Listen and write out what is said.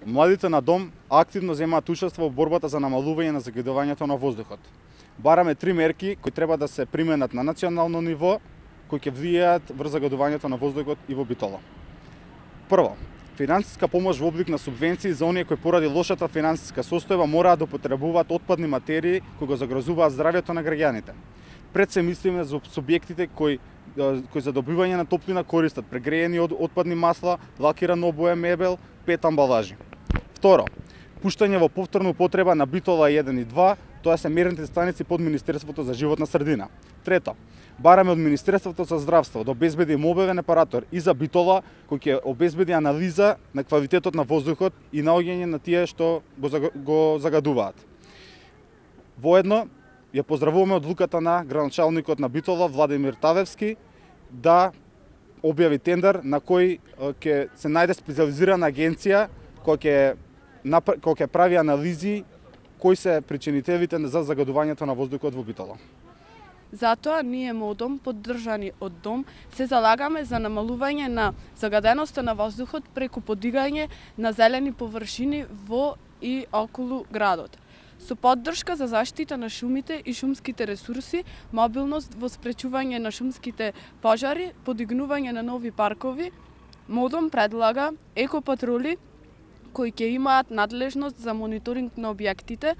Младите на Дом активно земаат учество во борбата за намалување на загадувањето на воздухот. Бараме 3 мерки кои треба да се применат на национално ниво, кои ќе влијаат врз загадувањето на воздухот и во Битола. Прво, финансиска помош во облик на субвенции за оние кои поради лошата финансиска состојба мораат да употребуваат отпадни материи кои го загрозуваат здравјето на граѓаните. Пред се мислиме за субјектите кои за добивање на топлина користат прегреени отпадни масла, лакирано обоја мебел, пет амбалажи. Второ, пуштање во повторна употреба на Битола 1 и 2, тоа се мерните станици под Министерството за животна средина. Трето, бараме од Министерството за здравство да обезбеди мобилен апаратор и за Битола, кој ќе обезбеди анализа на квалитетот на воздухот и наоѓање на тие што го загадуваат. Воедно, ја поздравуваме одлуката на градоначалникот на Битола, Владимир Тавевски, да објави тендер на кој ќе се најде специализирана агенција која ќе прави анализи кои се причинителите за загадувањето на воздухот во Битола. Затоа ние МОДОМ, поддржани од Дом, се залагаме за намалување на загаденоста на воздухот преку подигање на зелени површини во и околу градот. Со поддршка за заштита на шумите и шумските ресурси, мобилност во спречување на шумските пожари, подигнување на нови паркови, МОДОМ предлага екопатрули кои ќе имаат надлежност за мониторинг на објектите,